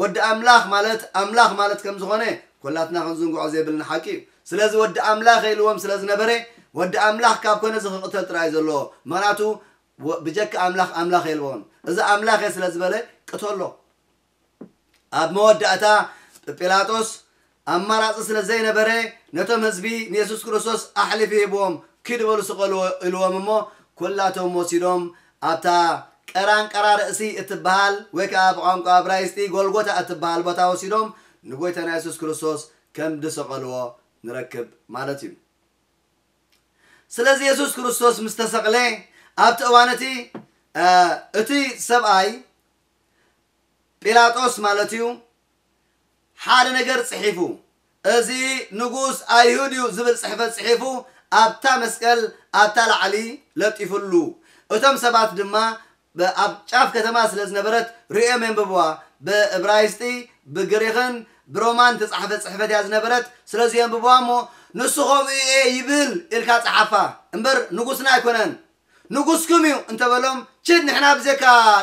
ወዲ ኣምላኽ ማለት ኣምላኽ ማለት ከም ዝኾነ ኩላትና ክንዝንግዖ ዘይብልና ሓቂ እዩ። ስለዚ ወዲ ኣምላኽ ኢልዎም ስለ ዝነበረ ወዲ ኣምላኽ ካብ ኮነ እዚ ክቕተል ጥራይ ዘለዎ ምኽንያቱ ብጀካ ኣምላኽ ኣምላኽ የልቦን። እዚ ኣምላኽ እየ ስለ ዝበለ ቅተሎ። ኣብ መወዳእታ ጲላጦስ ኣማራጺ ስለ ዘይነበረ ነቶም ህዝቢ ንየሱስ ክርስቶስ ኣሕሊፉ ሂብዎም ኪዱ በሉ ስቐልዎ ኢልዎም እሞ ኩላቶም ወሲዶም ኣብታ ቀራንቀራ ርእሲ እትበሃል ወይ ከዓ ብቋንቋ እብራይስጢ ጎልጎታ እትበሃል ቦታ ወሲዶም ንጎይታና የሱስ ክርስቶስ ከም ዝሰቐልዎ ንረክብ ማለት እዩ። ስለዚ የሱስ ክርስቶስ ምስ ተሰቕለ ኣብቲ እዋን እቲ እቲ ሰብኣይ ጲላጦስ ማለት እዩ ሓደ ነገር ጽሒፉ እዚ ንጉስ ኣይሁድ እዩ ዝብል ጽሕፈት ጽሒፉ ኣብታ መስቀል ኣብታ ላዕሊ ለጢፉሉ። እቶም ሰባት ድማ ኣብ ጫፍ ከተማ ስለ ዝነበረት ርእዮም የንብብዋ። ብእብራይስጢ ብግሪኽን ብሮማን ተጻሕፈ ጽሕፈት እያ ዝነበረት። ስለዚ የንብብዋ እሞ ንሱ ከምኡ እየ ይብል ኢልካ ጸሓፋ እምበር ንጉስና ኣይኮነን። ንጉስኩም እዩ እንተበሎም፣ ችድ፣ ንሕና ብዘካ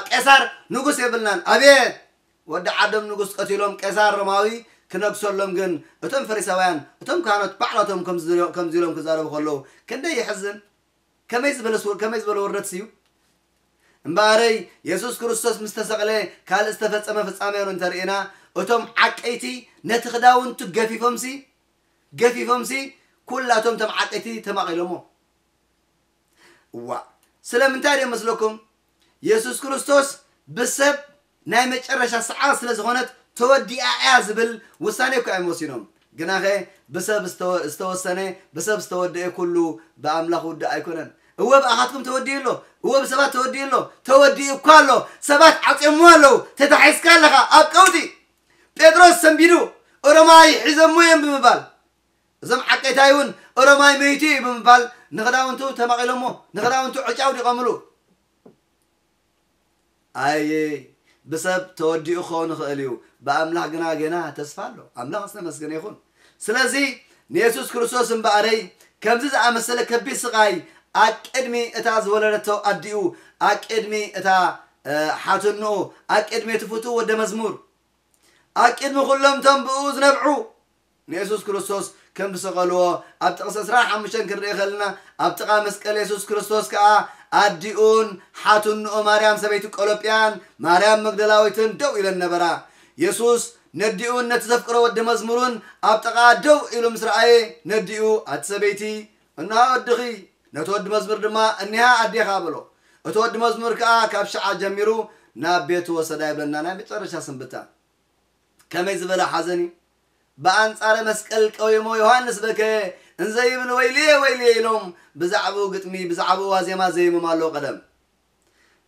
ቄሳር ንጉስ የብልናን። ኣቤት! ወዲ ዓዶም ንጉስ ቀቲሎም ቄሳር ሮማዊ ክነግሰሎም። ግን እቶም ፈሪሳውያን፣ እቶም ካህናት ባዕላቶም ከምዚ ኢሎም ክዛረቡ ከለዉ ክንደይ የሕዝን። ከመይ ዝበለ ስውር፣ ከመይ ዝበለ ውርደት ስዩ። እምበኣረይ፣ የሱስ ክርስቶስ ምስ ተሰቕለ ካልእ ዝተፈጸመ ፍጻሜ እንተርኢና፣ እቶም ዓቀይቲ ነቲ ክዳውንቱ ገፊፎምሲ፣ ገፊፎምሲ፣ ኩላቶም እቶም ዓቀይቲ ተማቒሎሞ። እዋ፣ ስለምንታይ ድዮም መስለኩም? የሱስ ክርስቶስ ብሰብ ናይ መጨረሻ ሰዓት ስለ ዝኾነት ተወዲኣ እያ ዝብል ውሳኔ እኮ እዮም ወሲኖም። ግናኸ ብሰብ ዝተወ-፣ ዝተወሰነ፣ ብሰብ ዝተወደአ ኩሉ ብኣምላኽ ውድእ ኣይኮነን። እወ ብኣኻትኩም ተወዲኡ ኣሎ፣ እወ ብሰባት ተወዲኡ ኣሎ፣ ተወዲኡ እኳ ኣሎ። ሰባት ዓጽዮምዎ ኣለዉ። ተታሒዝካ ኣለኻ ኣብ ቀውጢ። ጴጥሮስ ሰንቢዱ፣ እሮማይ ሒዞምዎ እዮም ብምባል፣ እዞም ዓቀይታይ እውን እሮማይ መይቱ እዩ ብምባል ንኽዳውንቱ ተማቒሎሞ፣ ንኽዳውንቱ ዕጫ ኣውዲቖምሉ። ኣየ፣ ብሰብ ተወዲኡ ክኸውን ይኽእል እዩ፣ ብኣምላኽ ግና ገና ተስፋ ኣሎ። ኣምላኽ ዝተመስገነ ይኹን። ስለዚ ንየሱስ ክርስቶስ እምበኣረይ ከምዚ ዝኣመሰለ ከቢድ ስቓይ ኣብ ቅድሚ እታ ዝወለደቶ ኣዲኡ፣ ኣብ ቅድሚ እታ፣ እ፣ ሓትንኡ፣ ኣብ ቅድሚ እቲ ፍቱው ወደ መዝሙር፣ ኣብ ቅድሚ ኩሎም እቶም ብእኡ ዝነብዑ ንየሱስ ክርስቶስ ከም ዝሰቐልዎ ኣብ ጥቕሲ ዕስራን ሓሙሽተን ክንርኢ ከለና፣ ኣብ ጥቓ መስቀል የሱስ ክርስቶስ ከኣ ኣዲኡን ሓትንኡ ማርያም ሰበይቲ ቆሎጵያን ማርያም መግደላዊትን ደው ኢለን ነበራ። የሱስ ነዲኡን ነቲ ዘፍቅሮ ወዲ መዝሙሩን ኣብ ጥቓ ደው ኢሉ ምስ ረኣየ፣ ነዲኡ፣ "ኣቲ ሰበይቲ፣ እንሃ ወድኺ፣ ነቲ ወዲ መዝሙር ድማ፣ እኒሃ ኣዴኻ" በሎ። እቲ ወዲ መዝሙር ከኣ ካብ ሸዓ ጀሚሩ ናብ ቤቱ ወሰዳ ይብለና ናይ መጨረሻ ስንብታ። ከመይ ዝበለ ሓዘን እዩ! ብኣንጻረ መስቀል ቀዊሞ ዮሃንስ በከየ፣ እንዘ ይብል፣ "ወይልየ፣ ወይልየ" ኢሎም ብዛዕባኡ ግጥሚ፣ ብዛዕባኡ ዋዜማ ዘይሞም ኣለዉ ቀደም።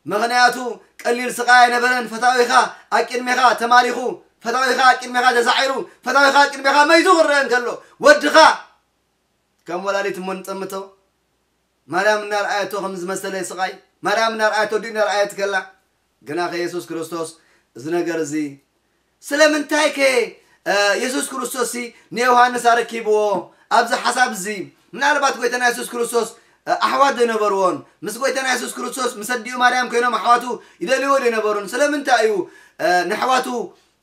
ምኽንያቱ ቀሊል ስቓይ ኣይነበረን። ፈታዊኻ ኣብ ቅድሜኻ ተማሪኹ፣ ፈታዊኻ ኣብ ቅድሜኻ ተሳዒሩ፣ ፈታዊኻ ኣብ ቅድሜኻ መይቱ ክረአ እንከሎ፣ ወድኻ ከም ወላዲት እሞ ንጠምቶ። ማርያም እናርኣየቶ ከም ዝመሰለ ስቓይ፣ ማርያም እናርኣየቶ፣ ወዲኡ እናርኣየት ከላ፣ ግናኸ የሱስ ክርስቶስ እዚ ነገር እዚ ስለምንታይ ከ፣ እ፣ የሱስ ክርስቶስ ሲ ንዮሃንስ ኣረኪብዎ? ኣብዚ ሓሳብ እዚ ምናልባት ጎይታና የሱስ ክርስቶስ፣ እ፣ ኣሕዋት ዘይነበርዎን፣ ምስ ጎይታና የሱስ ክርስቶስ ምስ ኣዲኡ ማርያም ኮይኖም ኣሕዋቱ ይደልይዎ ዘይነበሩን? ስለምንታይ እዩ፣ እ፣ ንኣሕዋቱ፣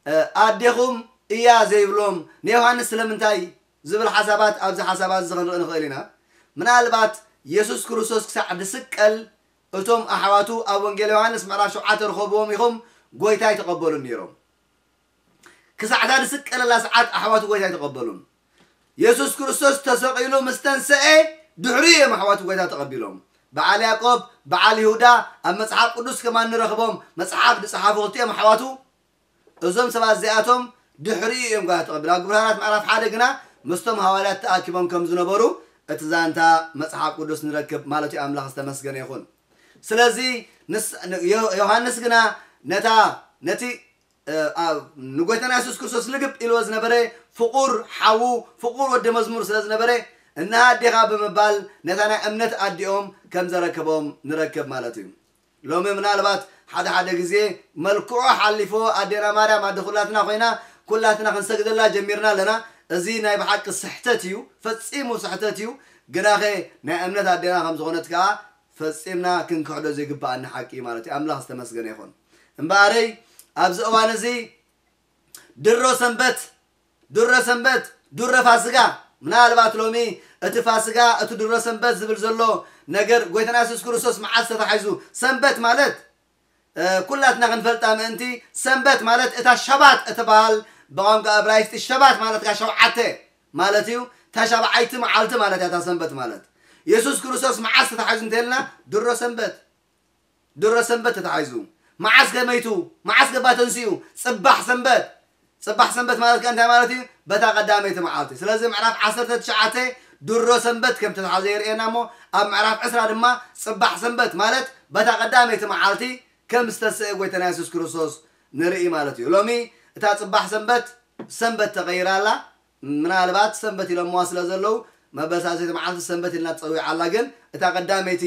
እ፣ ኣዴኹም እያ ዘይብሎም? ንዮሃንስ ስለምንታይ ዝብል ሓሳባት ኣብዚ ሓሳባት እዚ ክንርኢ ንኽእል ኢና። ምናልባት የሱስ ክርስቶስ ክሳዕ ዝስቀል እቶም ኣሕዋቱ ኣብ ወንጌል ዮሃንስ ምዕራፍ ሸውዓተ ርኸብዎም ኢኹም፣ ጎይታ ኣይተቐበሉን ነይሮም። ክሳዕ እታ ዝስቀለላ ሰዓት ኣሕዋቱ ጎይታ ኣይተቐበሉን። የሱስ ክርስቶስ ተሰቒሉ ምስ ተንሰኤ ድሕሪኡ እዮም ኣሕዋቱ ጎይታ ተቐቢሎም። በዓል ያዕቆብ፣ በዓል ይሁዳ ኣብ መጽሓፍ ቅዱስ ከማን ንረኽቦም፣ መጽሓፍ ዝጸሓፉ ክልቲኦም ኣሕዋቱ። እዞም ሰባት እዚኣቶም ድሕሪኡ እዮም ጎይታ ተቐቢሎም። ኣብ ግብረ ሃዋርያት ምዕራፍ ሓደ ግና ምስቶም ሃዋርያት ተኣኪቦም ከም ዝነበሩ እቲ ዛንታ መጽሓፍ ቅዱስ ንረክብ ማለት እዩ። ኣምላኽ ዝተመስገነ ይኹን። ስለዚ ንስ-፣ ን-፣ ዮ-፣ ዮሃንስ ግና ነታ፣ ነቲ፣ እ፣ ኣብ ንጎይታና የሱስ ክርስቶስ ልግብ ኢልዎ ዝነበረ ፍቑር ሓዉ፣ ፍቑር ወዲ መዝሙር ስለ ዝነበረ፣ "እንሃ ኣዴኻ" ብምባል ነታ ናይ እምነት ኣዲኦም ከም ዘረከቦም ንረክብ ማለት እዩ። ሎሚ ምናልባት ሓደ ሓደ ግዜ መልክዑ ሓሊፎ ኣዴና ማርያም ኣደ ኩላትና ኮይና፣ ኩላትና ክንሰግደላ ጀሚርና ኣለና። እዚ ናይ ብሓቂ ስሕተት እዩ፣ ፈጺሙ ስሕተት እዩ። ግናኸ ናይ እምነት ኣዴና ከም ዝኾነት ከኣ ፈጺምና ክንክሕዶ ዘይግብኣና ሓቂ እዩ ማለት እዩ። ኣምላኽ ዝተመስገነ ይኹን። እምበኣረይ፣ ኣብዚ እዋን እዚ ድሮ ሰንበት፣ ድሮ ሰንበት፣ ድሮ ፋስጋ፣ ምናልባት ሎሚ እቲ ፋስጋ፣ እቲ ድሮ ሰንበት ዝብል ዘሎ ነገር፣ ጎይታና የሱስ ክርስቶስ መዓስ ተታሒዙ? ሰንበት ማለት፣ እ፣ ኩላትና ክንፈልጣ ምእንቲ፣ ሰንበት ማለት እታ ሸባት እትበሃል፣ ብቋንቋ እብራይስጢ ሸባት ማለት ከኣ ሸውዓተ ማለት እዩ። እታ ሻብዓይቲ መዓልቲ ማለት እያ እታ ሰንበት ማለት። የሱስ ክርስቶስ መዓስ ተታሒዙ እንተልና፣ ድሮ ሰንበት። ድሮ ሰንበት ተታሒዙ። መዓስ ከ መይቱ? መዓስ ከ እባ ተንሲኡ? ጽባሕ ሰንበት። ጽባሕ ሰንበት ማለት ከ እንታይ ማለት እዩ? በታ ቀዳመይቲ መዓልቲ። ስለዚ ምዕራፍ ዓሰርተ ትሽዓተ ድሮ ሰንበት ከም ተታሓዘ የርእየና እሞ፣ ኣብ ምዕራፍ ዕስራ ድማ ጽባሕ ሰንበት ማለት በታ ቀዳመይቲ መዓልቲ ከም ዝተሰኤ ጎይታና የሱስ ክርስቶስ ንርኢ ማለት እዩ። ሎሚ እታ ጽባሕ ሰንበት፣ ሰንበት ተቐይራ ኣላ። ምናልባት ሰንበት ኢሎምዋ ስለ ዘለዉ፣ መበል ሳልሰይቲ መዓልቲ ሰንበት ኢልና ትጸዊዓ ኣላ። ግን እታ ቀዳመይቲ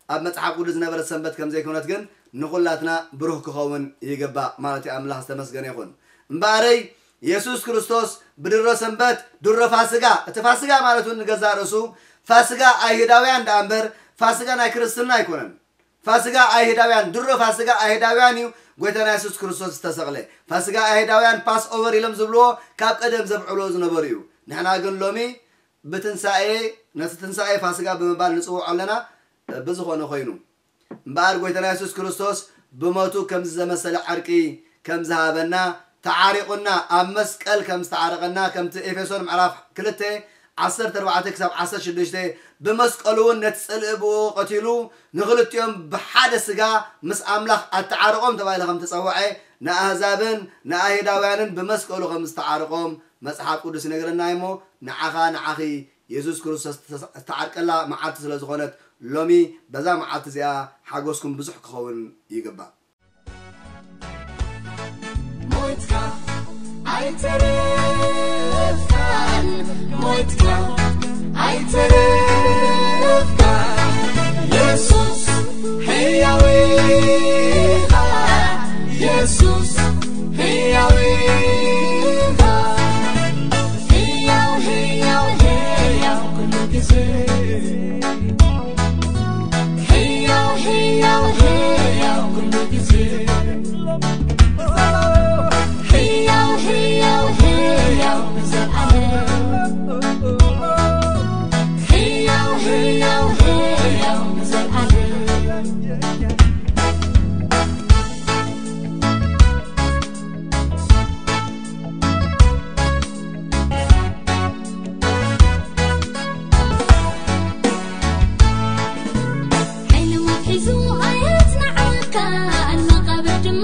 ኣብ መጽሓፍ ቅዱስ ዝነበረት ሰንበት ከም ዘይኮነት ግን ንኹላትና ብሩህ ክኸውን ይግባእ ማለት እዩ። ኣምላኽ ዝተመስገነ ይኹን። እምበኣረይ፣ የሱስ ክርስቶስ ብድሮ ሰንበት፣ ድሮ ፋስጋ፣ እቲ ፋስጋ ማለት እውን ንገዛእ ርእሱ ፋስጋ ኣይሁዳውያን ደኣ እምበር፣ ፋስጋ ናይ ክርስትና ኣይኮነን። ፋስጋ ኣይሁዳውያን፣ ድሮ ፋስጋ ኣይሁዳውያን እዩ ጎይታና የሱስ ክርስቶስ ዝተሰቕለ። ፋስጋ ኣይሁዳውያን ፓስ ኦቨር ኢሎም ዝብልዎ ካብ ቀደም ዘብዕልዎ ዝነበሩ እዩ። ንሕና ግን ሎሚ ብትንሳኤ፣ ነቲ ትንሳኤ ፋስጋ ብምባል ንጽውዖ ኣለና። ብዝኾነ ኮይኑ እምበኣር ጎይታና የሱስ ክርስቶስ ብሞቱ ከምዚ ዘመሰለ ዕርቂ ከም ዝሃበና፣ ተዓሪቑና ኣብ መስቀል ከም ዝተዓረቐና፣ ከምቲ ኤፌሶን ምዕራፍ ክልተ ዓሰርተ ኣርባዕተ ክሳብ ዓሰርተ ሽዱሽተ፣ ብመስቀሉ እውን ነቲ ጽልኢ ብኡ ቀቲሉ ንኽልቲኦም ብሓደ ስጋ ምስ ኣምላኽ ኣተዓረቖም ተባሂለ ከም ተጸውዐ፣ ንኣህዛብን ንኣይሁዳውያንን ብመስቀሉ ከም ዝተዓረቖም መጽሓፍ ቅዱስ ይነግረና እሞ፣ ንዓኻ ንዓኺ የሱስ ክርስቶስ ዝተዓርቀላ መዓልቲ ስለ ዝኾነት፣ ሎሚ በዛ መዓልቲ እዚኣ ሓጎስኩም ብዙሕ ክኸውን ይግባእ። ሞትካ ኣይተረፍካን፣ ሞትካ ኣይተረፍካን። የሱስ ሕያው ኢኻ፣ የሱስ ሕያው ኢኻ። ሕያው፣ ሕያው፣ ሕያው ኩሉ ግዜ። ሕያው፣ ሕያው፣ ሕያው ኩሉ ግዜ። ሕያው፣ ሕያው፣ ሕያው ንዘለዓለም። ሕያው፣ ሕያው፣ ሕያው ንዘለዓለም። ሓይሊ ሞት ሒዙ ኣየጽንዓካን፣ መቓብር ድማ